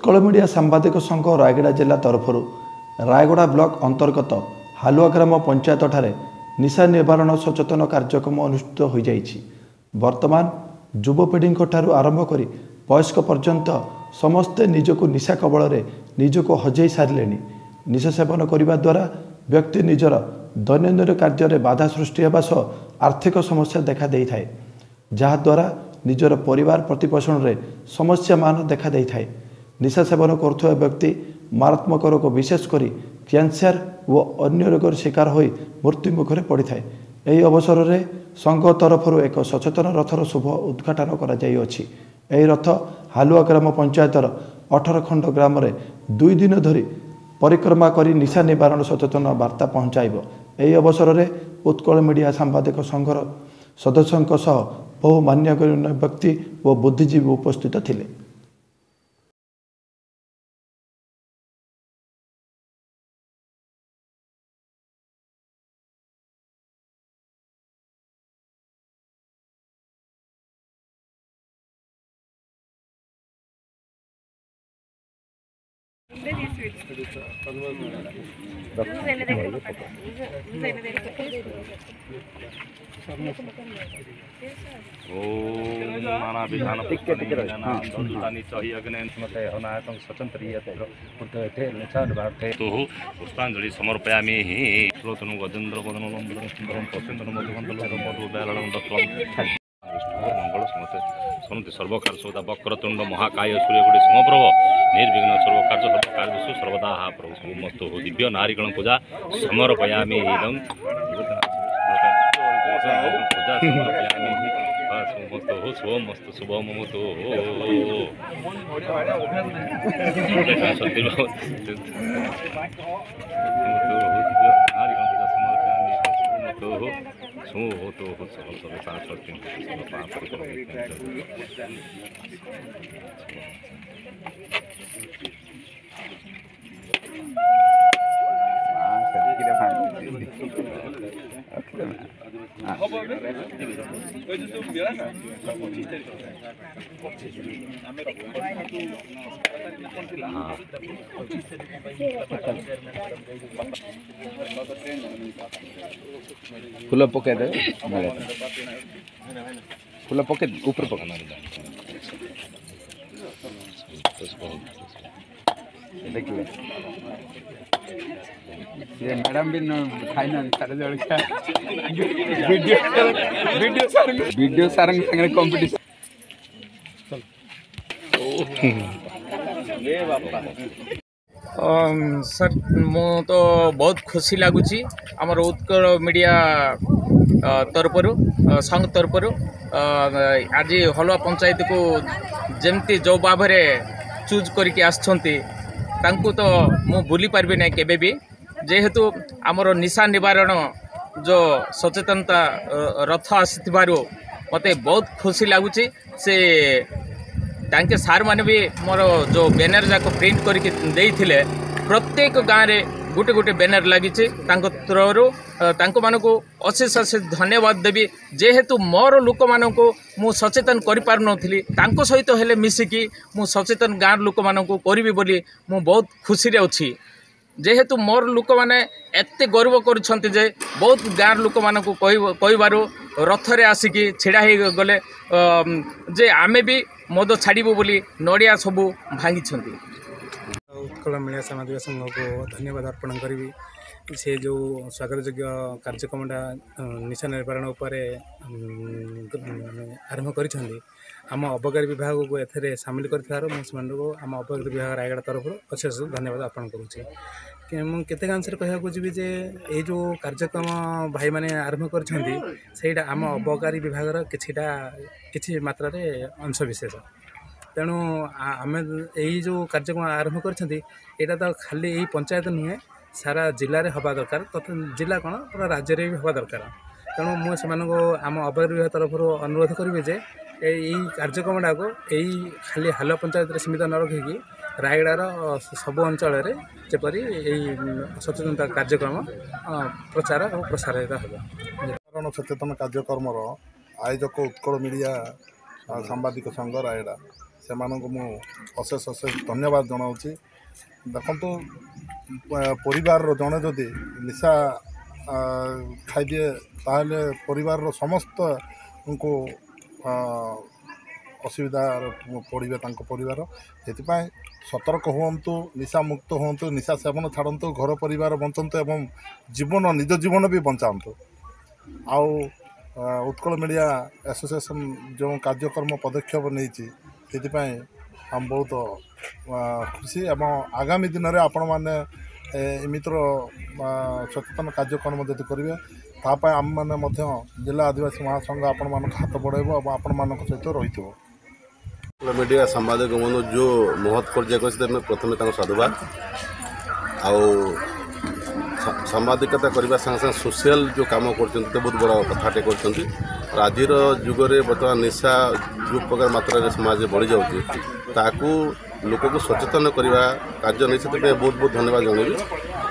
Utkal media ସାମ୍ବାଦିକ ସଂଘ ରାୟଗଡ଼ା ଜିଲ୍ଲା ତରଫରୁ ରାୟଗଡ଼ା ବ୍ଲକ ଅନ୍ତର୍ଗତ ହାଲୁଆ ଗ୍ରାମ ପଞ୍ଚାୟତଠାରେ ନିଶା ନିବାରଣ ସଚେତନ କାର୍ଯ୍ୟକ୍ରମ ଅନୁଷ୍ଠିତ ହୋଇଯାଇଛି। ବର୍ତ୍ତମାନ ଯୁବପିଢ଼ିଙ୍କ ଠାରୁ ଆରମ୍ଭ କରି ବୟସ୍କ ପର୍ଯ୍ୟନ୍ତ ସମସ୍ତେ ନିଜକୁ ନିଶା କବଳରେ ନିଜକୁ ହଜେଇ ସାରିଲେଣି। ନିଶା ସେବନ କରିବା ଦ୍ୱାରା ବ୍ୟକ୍ତି ନିଜର ଦୈନନ୍ଦିନ କାର୍ଯ୍ୟରେ ବାଧା ସୃଷ୍ଟି ହେବା ସହ ଆର୍ଥିକ ସମସ୍ୟା ଦେଖା ଦେଇଥାଏ, ଯାହାଦ୍ୱାରା ନିଜର ପରିବାର ପ୍ରତିପୋଷଣରେ ସମସ୍ୟାମାନ ଦେଖା ଦେଇଥାଏ। ନିଶା ସେବନ କରୁଥିବା ବ୍ୟକ୍ତି ମାରାତ୍ମକ ରୋଗ, ବିଶେଷ କରି କ୍ୟାନ୍ସର ଓ ଅନ୍ୟ ରୋଗର ଶିକାର ହୋଇ ମୃତ୍ୟୁ ମୁଖରେ ପଡ଼ିଥାଏ। ଏହି ଅବସରରେ ସଂଘ ତରଫରୁ ଏକ ସଚେତନ ରଥର ଶୁଭ ଉଦ୍ଘାଟନ କରାଯାଇଅଛି। ଏହି ରଥ ହାଲୁଆ ଗ୍ରାମ ପଞ୍ଚାୟତର 18 ଖଣ୍ଡ ଗ୍ରାମରେ 2 ଦିନ ଧରି ପରିକ୍ରମା କରି ନିଶା ନିବାରଣ ସଚେତନ ବାର୍ତ୍ତା ପହଞ୍ଚାଇବ। ଏହି ଅବସରରେ ଉତ୍କଳ ମିଡ଼ିଆ ସାମ୍ବାଦିକ ସଂଘର ସଦସ୍ୟଙ୍କ ସହ ବହୁ ମାନ୍ୟଗଣ୍ୟ ବ୍ୟକ୍ତି ଓ ବୁଦ୍ଧିଜୀବୀ ଉପସ୍ଥିତ ଥିଲେ। पुष्पांजलि समर्पयामि। गजेन्द्र मंगल समस्ते ଶୁଣନ୍ତି। ସର୍ବକାର୍ଯ୍ୟ ସର୍ବଦା ବକ୍ରତୁଣ୍ଡ ମହାକାୟ ସୂର୍ଯ୍ୟକୋଟି ସମପ୍ରଭ ନିର୍ବିଘ୍ନ ସର୍ବକାର୍ଯ୍ୟ ସର୍ବକାର୍ଯ୍ୟସୁ ସର୍ବଦା ହା ପ୍ରଭୁ ମସ୍ତୁ। ଦିବ୍ୟ ନାରୀଗଣ ପୂଜା ସମର୍ପୟାମି। ଇଦଂ ପୂଜା ସମର୍ପୟାମି। ଶୁଭମସ୍ତୁ ଶୁଭମସ୍ତୁ ଶୁଭମସ୍ତୁ। ନାରୀଗଣ ପୂଜା ସମର୍ପୟାମି। ଫୁଲ ପକେଇଦେବେ, ଫୁଲ ପକେଇ ଉପରେ ପକା। ଦେଖିଲେ ସେ ମ୍ୟାଡ଼ାମ ବି ଖାଇନାହାନ୍ତି ତାର ଜଳଖିଆ। ଭିଡ଼ିଓ ସାର୍, ଭିଡ଼ିଓ ସାର୍ଙ୍କ ସାଙ୍ଗରେ କମ୍ପିଟିସନ୍। ସାର୍, ମୁଁ ତ ବହୁତ ଖୁସି ଲାଗୁଛି। ଆମର ଉତ୍କଳ ମିଡ଼ିଆ ତରଫରୁ, ସଂଘ ତରଫରୁ ଆଜି ହଲୁଆ ପଞ୍ଚାୟତକୁ ଯେମିତି ଯେଉଁ ଭାବରେ ଚୁଜ୍ କରିକି ଆସିଛନ୍ତି, ତାଙ୍କୁ ତ ମୁଁ ଭୁଲି ପାରିବି ନାହିଁ କେବେ ବି। ଯେହେତୁ ଆମର ନିଶା ନିବାରଣ ଯେଉଁ ସଚେତନତା ରଥ ଆସିଥିବାରୁ ମୋତେ ବହୁତ ଖୁସି ଲାଗୁଛି। ସେ ତାଙ୍କେ ସାର୍ମାନେ ବି ମୋର ଯେଉଁ ବ୍ୟାନର୍ ଯାକ ପ୍ରିଣ୍ଟ କରିକି ଦେଇଥିଲେ, ପ୍ରତ୍ୟେକ ଗାଁରେ ଗୋଟେ ଗୋଟେ ବ୍ୟାନର୍ ଲାଗିଛି ତାଙ୍କ ଥ୍ରୋରୁ। ତାଙ୍କମାନଙ୍କୁ ଅଶେଷ ଅଶେଷ ଧନ୍ୟବାଦ ଦେବି। ଯେହେତୁ ମୋର ଲୋକମାନଙ୍କୁ ମୁଁ ସଚେତନ କରିପାରୁନଥିଲି, ତାଙ୍କ ସହିତ ହେଲେ ମିଶିକି ମୁଁ ସଚେତନ ଗାଁର ଲୋକମାନଙ୍କୁ କରିବି ବୋଲି ମୁଁ ବହୁତ ଖୁସିରେ ଅଛି। ଯେହେତୁ ମୋର ଲୋକମାନେ ଏତେ ଗର୍ବ କରୁଛନ୍ତି ଯେ ବହୁତ ଗାଁର ଲୋକମାନଙ୍କୁ କହିବାରୁ ରଥରେ ଆସିକି ଛିଡ଼ା ହେଇଗଲେ ଯେ ଆମେ ବି ମଦ ଛାଡ଼ିବୁ ବୋଲି ନଡ଼ିଆ ସବୁ ଭାଙ୍ଗିଛନ୍ତି। ଉତ୍କଳ ମିଡ଼ିଆ ସାମ୍ବାଦିକ ସଂଘକୁ ଧନ୍ୟବାଦ ଅର୍ପଣ କରିବି। ସେ ଯେଉଁ ସ୍ୱାଗତ ଯୋଗ୍ୟ କାର୍ଯ୍ୟକ୍ରମଟା ନିଶା ନିବାରଣ ଉପରେ ଆରମ୍ଭ କରିଛନ୍ତି, ଆମ ଅବକାରୀ ବିଭାଗକୁ ଏଥିରେ ସାମିଲ କରିଥିବାରୁ ମୁଁ ସେମାନଙ୍କୁ ଆମ ଅବକାରୀ ବିଭାଗ ରାୟଗଡ଼ା ତରଫରୁ ଅଶେଷ ଧନ୍ୟବାଦ ଅର୍ପଣ କରୁଛି। ମୁଁ କେତେକାଂଶରେ କହିବାକୁ ଯିବି ଯେ ଏଇ ଯେଉଁ କାର୍ଯ୍ୟକ୍ରମ ଭାଇମାନେ ଆରମ୍ଭ କରିଛନ୍ତି, ସେଇଟା ଆମ ଅବକାରୀ ବିଭାଗର କିଛିଟା କିଛି ମାତ୍ରାରେ ଅଂଶ ବିଶେଷ। ତେଣୁ ଆମେ ଏଇ ଯେଉଁ କାର୍ଯ୍ୟକ୍ରମ ଆରମ୍ଭ କରିଛନ୍ତି, ଏଇଟା ତ ଖାଲି ଏଇ ପଞ୍ଚାୟତ ନୁହେଁ, ସାରା ଜିଲ୍ଲାରେ ହେବା ଦରକାର, ତଥା ଜିଲ୍ଲା କ'ଣ ପୁରା ରାଜ୍ୟରେ ବି ହେବା ଦରକାର। ତେଣୁ ମୁଁ ସେମାନଙ୍କୁ ଆମ ଅବକାରୀ ବିଭାଗ ତରଫରୁ ଅନୁରୋଧ କରିବି ଯେ ଏଇ କାର୍ଯ୍ୟକ୍ରମଟାକୁ ଏଇ ଖାଲି ହାଲୁଆ ପଞ୍ଚାୟତରେ ସୀମିତ ନ ରଖିକି ରାୟଗଡ଼ାର ସବୁ ଅଞ୍ଚଳରେ ଯେପରି ଏଇ ସଚେତନତା କାର୍ଯ୍ୟକ୍ରମ ପ୍ରଚାର ଓ ପ୍ରସାରିତ ହେବ। ସଚେତନ କାର୍ଯ୍ୟକ୍ରମର ଆୟୋଜକ ଉତ୍କଳ ମିଡ଼ିଆ ସାମ୍ବାଦିକ ସଂଘ ରାୟଗଡ଼ା, ସେମାନଙ୍କୁ ମୁଁ ଅଶେଷ ଅଶେଷ ଧନ୍ୟବାଦ ଜଣାଉଛି। ଦେଖନ୍ତୁ, ପରିବାରର ଜଣେ ଯଦି ନିଶା ଖାଇଦିଏ, ତାହେଲେ ପରିବାରର ସମସ୍ତଙ୍କୁ ଅସୁବିଧାରେ ପଡ଼ିବେ ତାଙ୍କ ପରିବାର। ସେଥିପାଇଁ ସତର୍କ ହୁଅନ୍ତୁ, ନିଶା ମୁକ୍ତ ହୁଅନ୍ତୁ, ନିଶା ସେବନ ଛାଡ଼ନ୍ତୁ, ଘର ପରିବାର ବଞ୍ଚନ୍ତୁ ଏବଂ ଜୀବନ, ନିଜ ଜୀବନ ବି ବଞ୍ଚାନ୍ତୁ। ଆଉ ଉତ୍କଳ ମିଡ଼ିଆ ଆସୋସିଏସନ୍ ଯେଉଁ କାର୍ଯ୍ୟକ୍ରମ ପଦକ୍ଷେପ ନେଇଛି, ସେଥିପାଇଁ ଆମେ ବହୁତ ଖୁସି ଏବଂ ଆଗାମୀ ଦିନରେ ଆପଣମାନେ ଏମିତିର ସଚେତନ କାର୍ଯ୍ୟକ୍ରମ ଯଦି କରିବେ, ତା ପାଇଁ ଆମେମାନେ ମଧ୍ୟ ଜିଲ୍ଲା ଆଦିବାସୀ ମହାସଂଘ ଆପଣମାନଙ୍କ ହାତ ବଢ଼ାଇବ ଏବଂ ଆପଣମାନଙ୍କ ସହିତ ରହିଥିବ। ମିଡ଼ିଆ ସାମ୍ବାଦିକ ବନ୍ଧୁ ଯେଉଁ ମହତ୍ କାର୍ଯ୍ୟ କରିଛନ୍ତି, ପ୍ରଥମେ ତାଙ୍କୁ ସାଧୁବାଦ। ଆଉ ସାମ୍ବାଦିକତା କରିବା ସାଙ୍ଗେ ସାଙ୍ଗେ ସୋସିଆଲ ଯେଉଁ କାମ କରୁଛନ୍ତି, ତ ବହୁତ ବଡ଼ କଥାଟେ କରୁଛନ୍ତି। ଆଜିର ଯୁଗରେ ବର୍ତ୍ତମାନ ନିଶା ଯେଉଁ ପ୍ରକାର ମାତ୍ରାରେ ସମାଜରେ ବଢ଼ିଯାଉଛି, ତାକୁ ଲୋକକୁ ସଚେତନ କରିବା କାର୍ଯ୍ୟ ନେଇ, ସେଥିପାଇଁ ବହୁତ ବହୁତ ଧନ୍ୟବାଦ ଜଣାଇବି।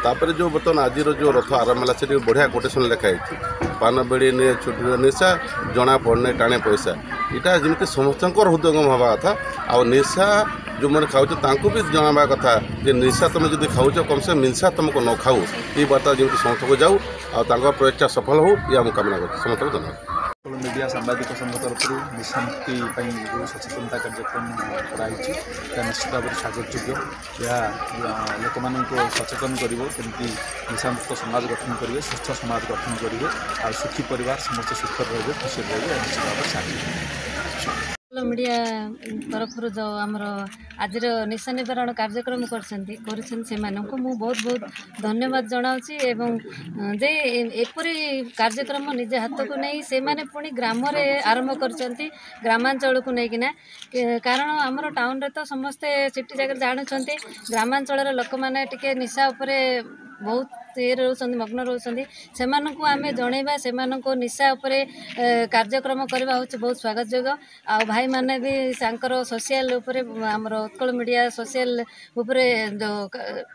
ତାପରେ ଯେଉଁ ବର୍ତ୍ତମାନ ଆଜିର ଯେଉଁ ରଥ ଆରମ୍ଭ ହେଲା, ସେଠି ବଢ଼ିଆ କୋଟେସନ୍ ଲେଖା ହେଇଛି, "ପାନ ବିଡ଼ି ନିଏ ଛୁଟିର ନିଶା, ଜଣା ପଡ଼ୁନି ଟାଣେ ପଇସା"। ଏଇଟା ଯେମିତି ସମସ୍ତଙ୍କର ହୃଦୟଙ୍ଗମ ହେବା କଥା। ଆଉ ନିଶା ଯେଉଁମାନେ ଖାଉଛ, ତାଙ୍କୁ ବି ଜଣାଇବା କଥା ଯେ ନିଶା ତୁମେ ଯଦି ଖାଉଛ, କମ୍ ସେ ନିଶା ତୁମକୁ ନ ଖାଉ। ଏଇ ବାର୍ତ୍ତା ଯେମିତି ସମସ୍ତଙ୍କୁ ଯାଉ ଆଉ ତାଙ୍କ ପ୍ରଚେଷ୍ଟା ସଫଳ ହଉ, ଇଏ ମୁଁ କାମନା କରୁଛି। ସମସ୍ତଙ୍କୁ ଧନ୍ୟବାଦ। ମିଡ଼ିଆ ସାମ୍ବାଦିକ ସଂଘ ତରଫରୁ ନିଶାମୁକ୍ତି ପାଇଁ ଯେଉଁ ସଚେତନତା କାର୍ଯ୍ୟକ୍ରମ କରାହେଇଛି, ତାହା ନିଶ୍ଚିତ ଭାବରେ ସ୍ୱାଗତ ଯୋଗ୍ୟ। ଏହା ଲୋକମାନଙ୍କୁ ସଚେତନ କରିବ, କେମିତି ନିଶାମୁକ୍ତ ସମାଜ ଗଠନ କରିବେ, ସୁସ୍ଥ ସମାଜ ଗଠନ କରିବେ ଆଉ ସୁଖୀ ପରିବାର, ସମସ୍ତେ ସୁଖରେ ରହିବେ, ଖୁସିରେ ରହିବେ। ଏହା ନିଶ୍ଚିତ ଭାବରେ ସାହାଯ୍ୟ ମିଡ଼ିଆ ତରଫରୁ ଯେଉଁ ଆମର ଆଜିର ନିଶା ନିବାରଣ କାର୍ଯ୍ୟକ୍ରମ କରିଛନ୍ତି, ସେମାନଙ୍କୁ ମୁଁ ବହୁତ ବହୁତ ଧନ୍ୟବାଦ ଜଣାଉଛି। ଏବଂ ଯେ ଏପରି କାର୍ଯ୍ୟକ୍ରମ ନିଜ ହାତକୁ ନେଇ ସେମାନେ ପୁଣି ଗ୍ରାମରେ ଆରମ୍ଭ କରିଛନ୍ତି, ଗ୍ରାମାଞ୍ଚଳକୁ ନେଇକିନା। କାରଣ ଆମର ଟାଉନରେ ତ ସମସ୍ତେ ସିଟି ଜାଗାରେ ଜାଣୁଛନ୍ତି, ଗ୍ରାମାଞ୍ଚଳର ଲୋକମାନେ ଟିକେ ନିଶା ଉପରେ ବହୁତ ଇଏରେ ରହୁଛନ୍ତି, ମଗ୍ନ ରହୁଛନ୍ତି। ସେମାନଙ୍କୁ ଆମେ ଜଣେଇବା, ସେମାନଙ୍କୁ ନିଶା ଉପରେ କାର୍ଯ୍ୟକ୍ରମ କରିବା ହେଉଛି ବହୁତ ସ୍ୱାଗତ ଯୋଗ୍ୟ। ଆଉ ଭାଇମାନେ ବି ତାଙ୍କର ସୋସିଆଲ ଉପରେ, ଆମର ଉତ୍କଳ ମିଡ଼ିଆ ସୋସିଆଲ ଉପରେ ଯେଉଁ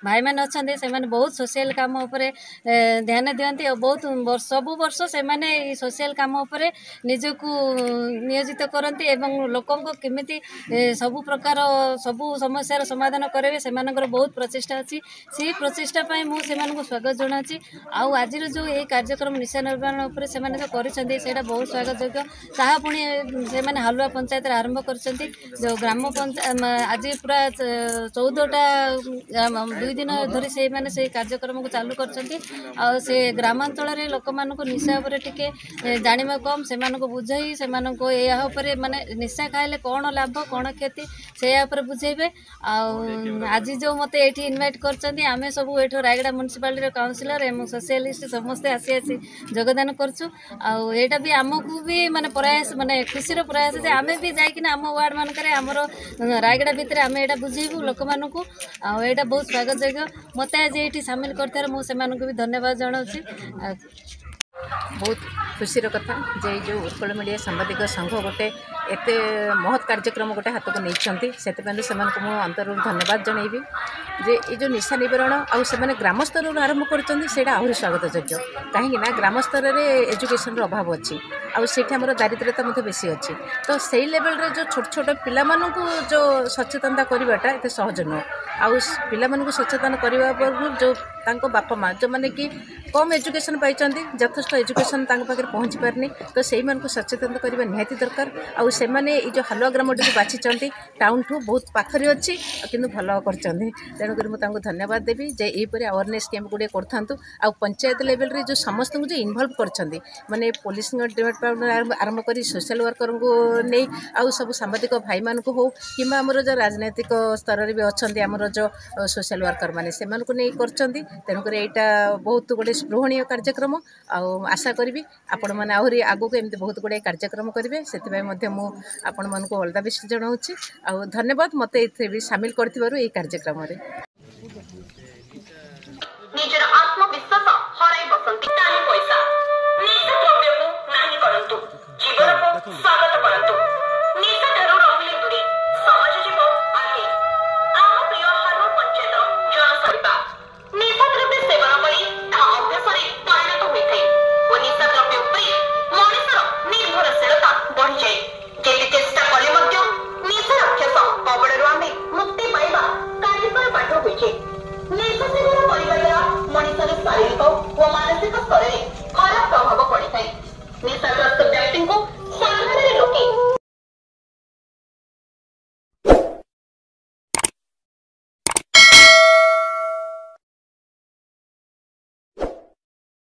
ଭାଇମାନେ ଅଛନ୍ତି, ସେମାନେ ବହୁତ ସୋସିଆଲ କାମ ଉପରେ ଧ୍ୟାନ ଦିଅନ୍ତି। ଆଉ ବହୁତ ସବୁ ବର୍ଷ ସେମାନେ ଏଇ ସୋସିଆଲ କାମ ଉପରେ ନିଜକୁ ନିୟୋଜିତ କରନ୍ତି ଏବଂ ଲୋକଙ୍କୁ କେମିତି ସବୁ ପ୍ରକାର ସବୁ ସମସ୍ୟାର ସମାଧାନ କରିବେ, ସେମାନଙ୍କର ବହୁତ ପ୍ରଚେଷ୍ଟା ଅଛି। ସେଇ ପ୍ରଚେଷ୍ଟା ପାଇଁ ମୁଁ ସେମାନଙ୍କୁ ସ୍ୱାଗତ ଜଣାଉଛି। ଆଉ ଆଜିର ଯେଉଁ ଏଇ କାର୍ଯ୍ୟକ୍ରମ ନିଶା ନିବାରଣ ଉପରେ ସେମାନେ ଯେଉଁ କରିଛନ୍ତି, ସେଇଟା ବହୁତ ସ୍ୱାଗତ ଯୋଗ୍ୟ। ତାହା ପୁଣି ସେମାନେ ହାଲୁଆ ପଞ୍ଚାୟତରେ ଆରମ୍ଭ କରିଛନ୍ତି, ଯେଉଁ ଗ୍ରାମ ପଞ୍ଚାୟତ ଆଜି ପୁରା 14ଟା 2 ଦିନ ଧରି ସେଇମାନେ ସେଇ କାର୍ଯ୍ୟକ୍ରମକୁ ଚାଲୁ କରିଛନ୍ତି। ଆଉ ସେ ଗ୍ରାମାଞ୍ଚଳରେ ଲୋକମାନଙ୍କୁ ନିଶା ଉପରେ ଟିକେ ଜାଣିବା କମ୍, ସେମାନଙ୍କୁ ବୁଝାଇ ସେମାନଙ୍କୁ ଏହା ଉପରେ, ମାନେ ନିଶା ଖାଇଲେ କ'ଣ ଲାଭ, କ'ଣ କ୍ଷତି, ସେଇଆ ଉପରେ ବୁଝେଇବେ। ଆଉ ଆଜି ଯେଉଁ ମୋତେ ଏଇଠି ଇନଭାଇଟ୍ କରିଛନ୍ତି, ଆମେ ସବୁ ଏଇଠୁ ରାୟଗଡ଼ା ମ୍ୟୁନିସିପାଲିଟିର କାଉନସିଲର ଏବଂ ସୋସିଆଲିଷ୍ଟ ସମସ୍ତେ ଆସି ଆସି ଯୋଗଦାନ କରୁଛୁ। ଆଉ ଏଇଟା ବି ଆମକୁ ବି ମାନେ ପ୍ରୟାସ, ମାନେ ଖୁସିର ପ୍ରୟାସ ଯେ ଆମେ ବି ଯାଇକିନା ଆମ ୱାର୍ଡ଼ ମାନଙ୍କରେ, ଆମର ରାୟଗଡ଼ା ଭିତରେ ଆମେ ଏଇଟା ବୁଝେଇବୁ ଲୋକମାନଙ୍କୁ। ଆଉ ଏଇଟା ବହୁତ ସ୍ୱାଗତ ଯୋଗ୍ୟ। ମୋତେ ଆଜି ଏଇଠି ସାମିଲ କରିଥିବାରୁ ମୁଁ ସେମାନଙ୍କୁ ବି ଧନ୍ୟବାଦ ଜଣାଉଛି। ଆଉ ବହୁତ ଖୁସିର କଥା ଯେ ଏଇ ଯେଉଁ ଉତ୍କଳ ମିଡ଼ିଆ ସାମ୍ବାଦିକ ସଂଘ ଗୋଟେ ଏତେ ମହତ୍ କାର୍ଯ୍ୟକ୍ରମ ଗୋଟେ ହାତକୁ ନେଇଛନ୍ତି, ସେଥିପାଇଁ ସେମାନଙ୍କୁ ମୁଁ ଅନ୍ତରରୁ ଧନ୍ୟବାଦ ଜଣାଇବି ଯେ ଏଇ ଯେଉଁ ନିଶା ନିବାରଣ ଆଉ ସେମାନେ ଗ୍ରାମ ସ୍ତରରୁ ଆରମ୍ଭ କରୁଛନ୍ତି, ସେଇଟା ଆହୁରି ସ୍ୱାଗତ ଯୋଗ୍ୟ। କାହିଁକି ନା ଗ୍ରାମ ସ୍ତରରେ ଏଜୁକେସନ୍ର ଅଭାବ ଅଛି ଆଉ ସେଇଠି ଆମର ଦାରିଦ୍ର୍ୟତା ମଧ୍ୟ ବେଶୀ ଅଛି। ତ ସେଇ ଲେଭେଲରେ ଯେଉଁ ଛୋଟ ଛୋଟ ପିଲାମାନଙ୍କୁ ଯେଉଁ ସଚେତନତା କରିବାଟା ଏତେ ସହଜ ନୁହଁ। ଆଉ ପିଲାମାନଙ୍କୁ ସଚେତନ କରିବା ପୂର୍ବରୁ ଯେଉଁ ତାଙ୍କ ବାପା ମା' ଯେଉଁମାନେ କି କମ୍ ଏଜୁକେସନ୍ ପାଇଛନ୍ତି, ଯଥେଷ୍ଟ ଏଜୁକେସନ୍ ତାଙ୍କ ପାଖରେ ପହଞ୍ଚି ପାରିନି, ତ ସେଇମାନଙ୍କୁ ସଚେତନ କରିବା ନିହାତି ଦରକାର। ଆଉ ସେମାନେ ଏଇ ଯେଉଁ ହାଲୁଆ ଗ୍ରାମଟିକୁ ବାଛିଛନ୍ତି, ଟାଉନଠୁ ବହୁତ ପାଖରେ ଅଛି, କିନ୍ତୁ ଭଲ କରିଛନ୍ତି। ତେଣୁକରି ମୁଁ ତାଙ୍କୁ ଧନ୍ୟବାଦ ଦେବି ଯେ ଏହିପରି ଆୱାରନେସ୍ କ୍ୟାମ୍ପ ଗୁଡ଼ିଏ କରିଥାନ୍ତୁ। ଆଉ ପଞ୍ଚାୟତ ଲେଭେଲରେ ଯେଉଁ ସମସ୍ତଙ୍କୁ ଯେଉଁ ଇନଭଲ୍ଭ କରିଛନ୍ତି, ମାନେ ପୋଲିସଙ୍କ ଡିପାର୍ଟମେଣ୍ଟ ଆରମ୍ଭ କରି ସୋସିଆଲ ୱାର୍କରଙ୍କୁ ନେଇ ଆଉ ସବୁ ସାମ୍ବାଦିକ ଭାଇମାନଙ୍କୁ ହଉ କିମ୍ବା ଆମର ଯେଉଁ ରାଜନୈତିକ ସ୍ତରରେ ବି ଅଛନ୍ତି ଆମର ଯେଉଁ ସୋସିଆଲ ୱାର୍କର ମାନେ, ସେମାନଙ୍କୁ ନେଇ କରିଛନ୍ତି। ତେଣୁକରି ଏଇଟା ବହୁତ ଗୋଟେ ସ୍ପୃହଣୀୟ କାର୍ଯ୍ୟକ୍ରମ। ଆଉ ଆଶା କରିବି ଆପଣମାନେ ଆହୁରି ଆଗକୁ ଏମିତି ବହୁତ ଗୁଡ଼ିଏ କାର୍ଯ୍ୟକ୍ରମ କରିବେ। ସେଥିପାଇଁ ମଧ୍ୟ ମୁଁ ଆପଣମାନଙ୍କୁ ଅଲ୍ the best ଜଣାଉଛି ଆଉ ଧନ୍ୟବାଦ ମୋତେ ଏଥିରେ ବି ସାମିଲ କରିଥିବାରୁ ଏଇ କାର୍ଯ୍ୟକ୍ରମରେ। ନିଜର ଆତ୍ମବିଶ୍ୱାସ